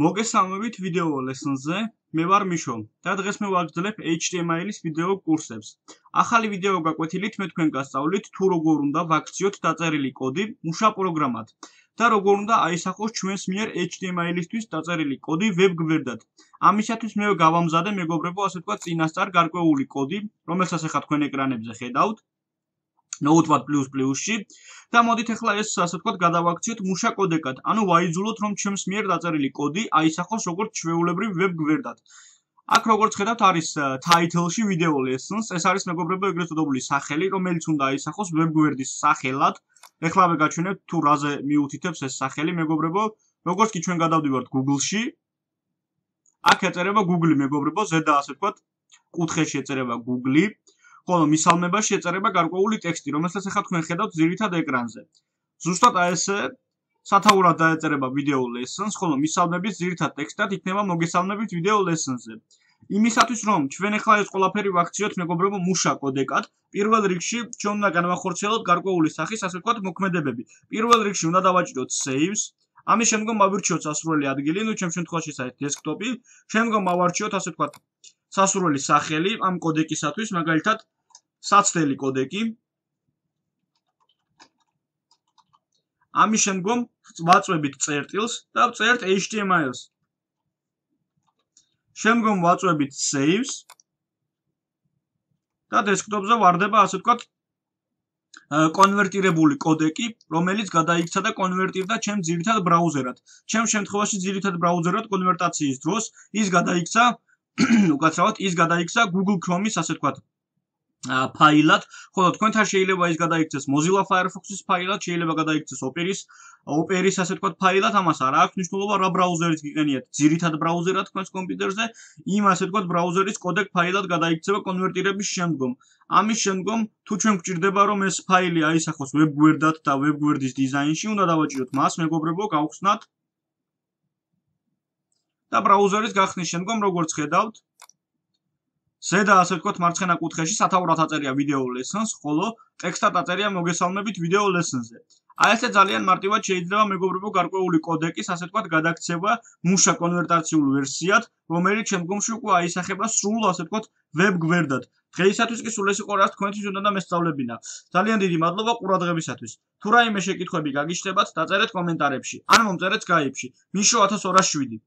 მოგესალმებით ვიდეო ლესონზე, მე ვარ მიშო და დღეს მე ვაგრძელებ HTML-ის ვიდეო კურსებს. ახალი ვიდეო გაკვეთილით მე თქვენ გასწავლით თუ როგორ უნდა ვაქციოთ დაწერილი კოდი მუშა პროგრამად და როგორ უნდა აისახოს ჩვენს მიერ HTML-ისთვის დაწერილი კოდი ვებ გვერდად. ამისათვის მე გავამზადე მეგობრებო, ასე ვთქვათ, წინასწარ გარკვეული კოდი, რომელსაც ახლა თქვენ ეკრანებზე ხედავთ. Notepad++-ში და მოდით ახლა ეს ასე ვთქვათ გადავაქციოთ მუშა კოდეკად. ანუ ვაიძულოთ რომ ჩემს მიერ დაწერილი კოდი აისახოს როგორც ჩვეულებრივ ვებ გვერდად. აქ როგორც ხედავთ არის title-ში video lessons. ეს არის მეგობრებო ეგრეთ წოდებული სახელი, რომელიც უნდა აისახოს ვებ გვერდის სახელად. ეხლავე გაჩვენებთ თუ რაზე მიუთითებს ეს სახელი მეგობრებო. როგორც კი ჩვენ გადავდივართ Google-ში. აქ ეწერება Google მეგობრებო, ზედა ასე ვთქვათ კუთხეში ეწერება Google. ხოლო მისალმებაში ეწერება გარკვეული ტექსტი, რომელსაც ახლა თქვენ ხედავთ ძირითად ეკრანზე. ზუსტად აი ესე სათაურად დაეწერება video lessons, ხოლო მისალმების ძირითად ტექსტად იქნება მოგესალმებით video lessons-ზე. იმისათვის რომ ჩვენ ახლა ეს ყველაფერი ვაქციოთ მეგობრებო მუშა კოდეკად, პირველ რიგში ჩვენ უნდა განვახორციელოთ გარკვეული სახის ასე ვთქვათ მოქმედებები. პირველ რიგში უნდა დავაჭიროთ saves, ამის შემდგომ ავირჩიოთ სასურველი ადგილი, ну ჩემ შემთხვევაში ეს არის desktop-ი, შემდგომ ავარჩიოთ ასე ვთქვათ სასურველი სახელი ამ კოდეკისათვის, მაგალითად საცდელი კოდეკი. ამის შემდგომ ვაწვევით წერტილს და ვწერთ HTML-ს. შემდგომ ვაწვევით saves და desktop-ზე ვარდება ასე ვთქვათ კონვერტირებული კოდეკი, რომელიც გადაიქცა და კონვერტირდა ჩემ ძირითად ბრაუზერად. ჩემ შემთხვევაში ძირითად ბრაუზერად კონვერტაციის დროს ის გადაიქცა უკაცრავად ის გადაიქცა Google Chrome-ის ასე ვთქვათ ფაილად, ხოლო თქვენთან შეიძლება ის გადაიქცეს Mozilla Firefox-ის ფაილად, შეიძლება გადაიქცეს Opera-ის ასე ვთქვათ ფაილად, ამას არ აქვს მნიშვნელობა რა ბრაუზერით გიყენიათ. ძირითად ბრაუზერად თქვენს კომპიუტერზე, იმ ასე ვთქვათ ბრაუზერის კოდეკ ფაილად გადაიქცება კონვერტირების შემდგომ. ამის შემდგომ თუ ჩვენ გვჭირდება რომ ეს ფაილი აისახოს ვებ გვერდად და ვებ გვერდის დიზაინში, უნდა დავაჭიროთ მას მეგობრებო, გავხსნათ და ბრაუზერის გახსნის შემდგომ როგორც ხედავთ ზედა ასე ვთქვათ მარცხენა კუთხეში სათაურად აწერია video lessons, ხოლო ტექსტად აწერია მოგესალმებით video lessons-ზე. აი ესე ძალიან მარტივად შეიძლება მეგობრებო გარკვეული კოდეკის ასე ვთქვათ გადაქცევა მუშა კონვერტაციულ ვერსიად, რომელიც შემდგომში უკვე აისახება სრულ ასე ვთქვათ ვებ გვერდად. დღეისათვის კი სულ ეს იყო რაც თქვენთვის უნდა მესწავლებინა. ძალიან დიდი მადლობა ყურადღებისათვის. თუ რაიმე შეკითხვები გაგიჩნდებათ, დაწერეთ კომენტარებში ან მომწერეთ Skype-ში. მიშო 1207